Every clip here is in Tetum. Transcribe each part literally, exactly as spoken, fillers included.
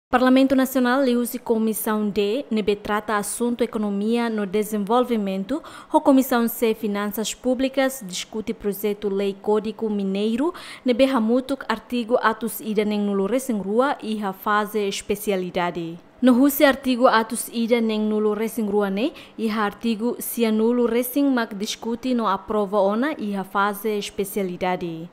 Parlamentu Nasionál liuhusi Komisaun D ne'ebé trata asuntu ekonomia no dezenvolvimentu, ho Komisaun C Finansas Públikas diskute projetu lei Kódigu Mineiru ne'ebé hamutuk artigu atus ida neen-nulu resin rua iha faze espesialidade. No husi artigu atus ida neen-nulu resin rua ne'e, iha artigu sia-nulu resin mak diskute no aprova ona iha faze espesialidade.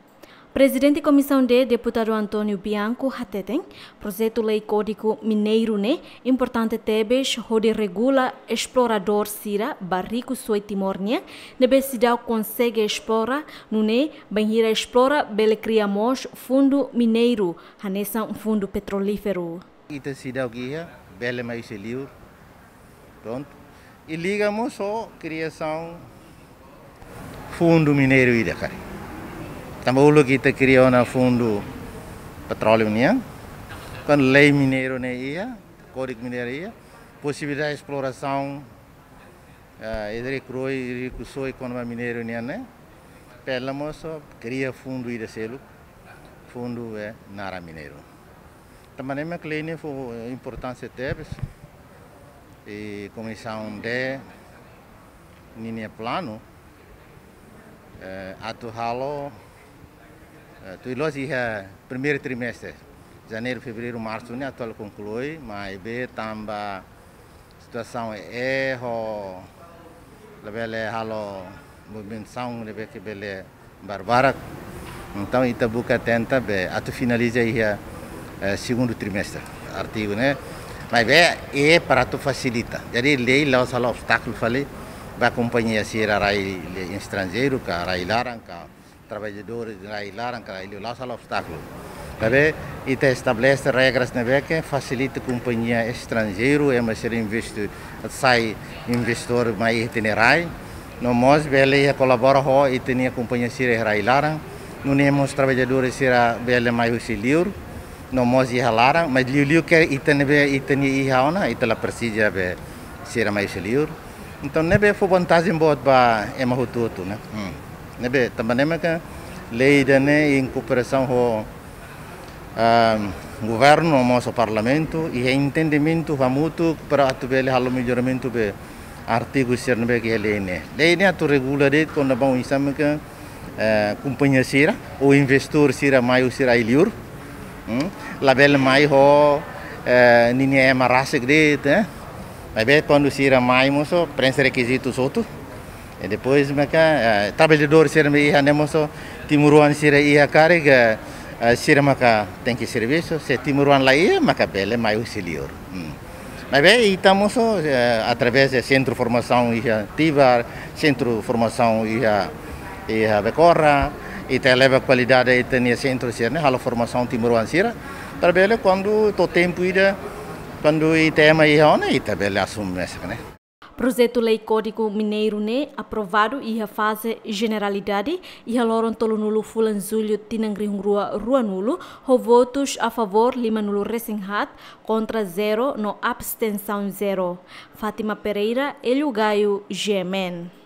Prezidente Komisaun D, Deputadu António Bianco, hateten, projetu lei Kódigu Mineiru ne'e importante tebes hodi regula esploradór sira ba rikusoin Timor nian, ne'ebé seidauk konsege esplora, nune'e bainhira esplora bele kria mós fundu mineiru, hanesan fundu petrolíferu. Ita seidauk iha, bele mai husi liur. Prontu. I liga mós ho kriasaun fundu mineiru ida karik. Tanba uluk ita kria ona fundu petróleu nian. Kuandu lei mineiru ne'e iha, Kódigu Mineiru iha, posibilidade esplorasaun, eh, ida rikusoin, rikusoin ekonomia mineiru nian ne'e, bele mós kria fundu ida seluk, fundu, eh, naran mineiru. Tanba ne'e mak lei ne'e fó importánsia tebes, i Komisaun D ninia planu, eh, atu halo, eh, tuir loos iha primeiru trimestre, janeiru, fevereiru, marsu ne'e atu halo konklui, maibé tanba situasaun ne'e ho labele halo movimentasaun ne'ebé ke bele barbarak. Entaun, ita buka tenta be atu finaliza iha, eh, segundu trimestre. Artigu ne'e, maibé, é para atu fasilita. Jadi, lei la'ós halo obstákulu fali ba kompañia sira rai estranjeiru, ka rai laran, ka traballadór rai laran, ka rai liur, la'ós halo obstákulu. Maibé, ita estabelese regras ne'ebé ke fasilita kompañia estranjeiru, ema sira investe, sai investidór mai iha ita-nia rai. No mós bele iha kolabora ho ita-nia kompañia sira iha rai laran. Nune'e mós traballadór sira bele mai husi liur. No mós iha laran, mas liuliu ke ita ne'ebé ita-nia iha ona, ita la presiza be sira mai husi liur. Entaun, ne'ebé fó vantajen boot ba ema hotu-hotu, ne'e. Hmm. Ne'ebé, tanba ne'e mak lei ida-ne'e em cooperação ho, ah, governu, mós ho parlamentu, iha entendimentu hamutuk para atu bele halo melloramentu be artigu sira ne'ebé ke iha lei ne'e. Lei ne'e atu regula de'it kona-ba oinsá mak, eh, kompañia sira, ou investidór sira mai husi rai liur. Hmm? Labele mai ho, eh, ninia ema rasik de'it, eh. Maibé kuandu sira mai mós preenxe rekizitus hotu. I depois maka, eh, traballadór sira ne'ebé iha ne'e mós timoroan sira iha karik, eh, sira maka tenke servisu. Se timoroan la iha, maka bele mai husi liur. Hmm. Maibé ita mós, eh, através de sentru formasaun iha Tibar, sentru formasaun iha, iha Becora, ita eleva kualidade ita-nia sentru sira-ne'e, halo formasaun timoroan sira. Para bele kuandu to'o tempu ida, kuandu ita ema iha ona, ita bele asume mesak ne'e. Projetu lei Kódigu Mineiru ne'e aprovadu iha faze jeneralidade iha loron tolunulu fulan Jullu tinan rihun rua ruanulu, ho votus a favór limanulu resin haat, kontra zero no abstensaun zero. Fátima Pereira, Hélio Gaio, G M N.